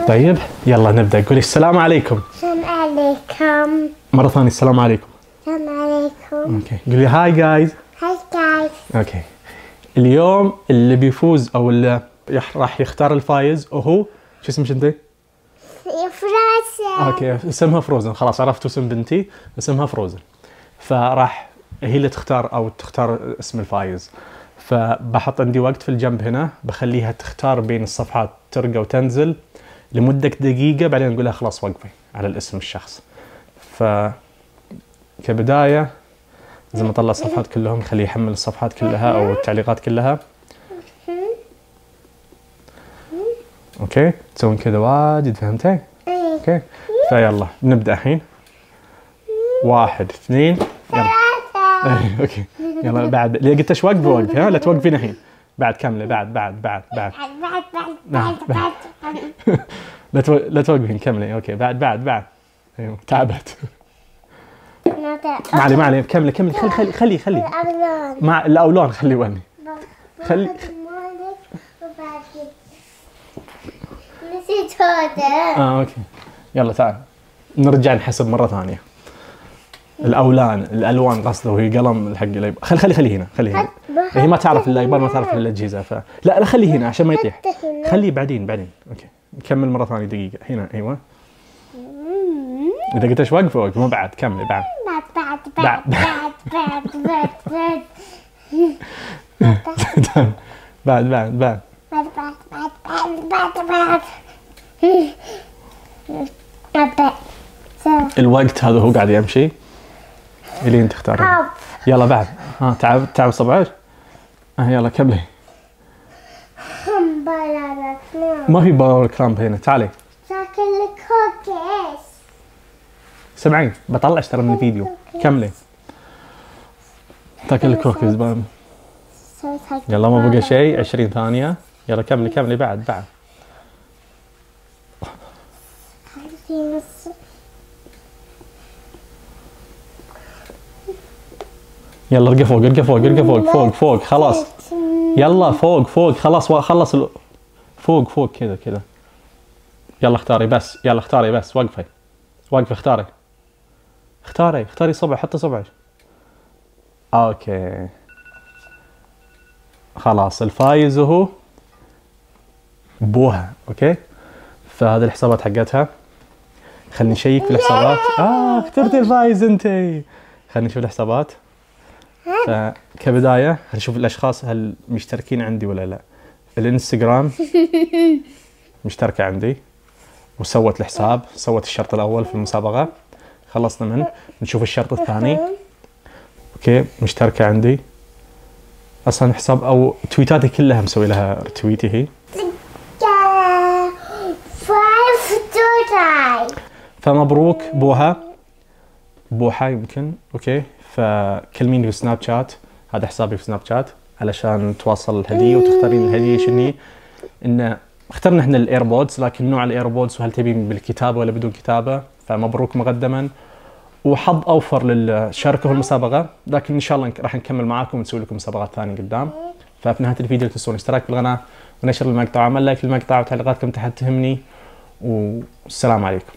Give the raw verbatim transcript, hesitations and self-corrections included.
طيب يلا نبدأ. قولي السلام عليكم. السلام عليكم. مرة ثانية السلام عليكم. السلام عليكم. اوكي قولي هاي جايز. هاي جايز. اوكي اليوم اللي بيفوز او اللي يح- راح يختار الفايز وهو شو اسمك انت؟ فروزن. اوكي اسمها فروزن. خلاص عرفتوا اسم بنتي، اسمها فروزن. فراح هي اللي تختار او تختار اسم الفايز. فبحط عندي وقت في الجنب هنا، بخليها تختار بين الصفحات ترقى وتنزل لمدة دقيقة، بعدين نقول لها خلاص وقفي على الاسم الشخص. ف كبداية لازم اطلع الصفحات كلهم، خليه يحمل الصفحات كلها او التعليقات كلها. اوكي تسوين كذا واجد، فهمتي؟ اوكي فيلا نبدأ الحين. واحد اثنين يلا. ايه اوكي يلا بعد اللي قلت ايش وقفي وقفي، ها لا توقفين الحين. بعد كملي بعد بعد بعد بعد بعد بعد بعد بعد. لا تو... لا توقفين كملي. اوكي بعد بعد بعد. ايوه تعبت. ما علي ما علي كملي كملي خلي خلي خلي خلي الأولون. مع الاولون خلي وني خلي. نسيت هذا. اه اوكي يلا تعال نرجع نحسب مرة ثانية. الاولان الالوان قصده، وهي قلم الحق الايباد. خلي خلي خلي هنا خلي هنا. هي ما تعرف الايباد، ما تعرف الاجهزه. ف لا لا خلي هنا عشان ما يطيح. خليه بعدين بعدين. اوكي نكمل مره ثانيه دقيقه هنا. ايوه اذا قلت ايش وقف وقف، مو بعد كملي بعد بعد بعد بعد بعد بعد بعد بعد بعد بعد بعد بعد بعد بعد بعد بعد. الوقت هذا هو قاعد يمشي اللي انت تختاره. يلا بعد. ها تعب تعب صبعك. ها يلا كملي. ما في باور كرامب هنا. تعالي ساكن الكوكيس. سمعين بطلعش ترى من الفيديو. كملي تاكل الكوكيز بام. يلا ما بقى شيء. عشرين ثانية. يلا كملي كملي بعد بعد. يلا ارقى فوق ارقى فوق ارقى فوق فوق فوق خلاص. يلا فوق فوق خلاص خلص ال... فوق فوق كذا كذا. يلا اختاري بس. يلا اختاري بس. وقفي وقفي اختاري اختاري اختاري صبع. حطي صبعك. اوكي خلاص الفايز هو بوها. اوكي فهذه الحسابات حقتها. خلني نشيك في الحسابات. اه اخترتي الفايز انتي. خلني نشوف الحسابات. فكبداية خلينا نشوف الاشخاص هل مشتركين عندي ولا لا. الانستغرام مشتركة عندي وسوت الحساب، سوت الشرط الاول في المسابقة، خلصنا منه. نشوف الشرط الثاني. اوكي مشتركة عندي اصلا حساب او تويتاتي كلها مسوي لها رتويتي هي. فمبروك بوها بوحة يمكن. اوكي فكلميني في سناب شات، هذا حسابي في سناب شات علشان تواصل الهدية وتختارين الهدية شنو هي. ان اخترنا احنا الايربودز، لكن نوع الايربودز وهل تبين بالكتابة ولا بدون كتابة. فمبروك مقدما وحظ اوفر للشاركة في المسابقة، لكن ان شاء الله راح نكمل معاكم ونسوي لكم مسابقات ثانية قدام. ففي نهاية الفيديو لا تنسون الاشتراك في القناة ونشر المقطع وعمل لايك للمقطع وتعليقاتكم تحت تهمني، والسلام عليكم.